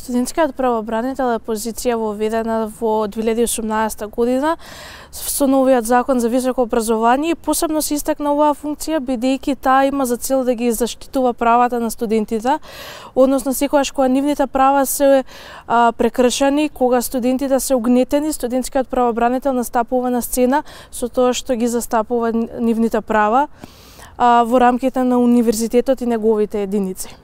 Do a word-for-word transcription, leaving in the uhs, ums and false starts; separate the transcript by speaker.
Speaker 1: Студентскиот правобранител е позиција воведена во две илјади и осумнаесета година со новиот закон за високо образование и посебно се истакна оваа функција бидејќи таа има за цел да ги заштитува правата на студентите, односно секогаш кога нивните права се а, прекршени, кога студентите се угнетени, студентскиот правобранител настапува на сцена со тоа што ги застапува нивните права а, во рамките на универзитетот и неговите единици.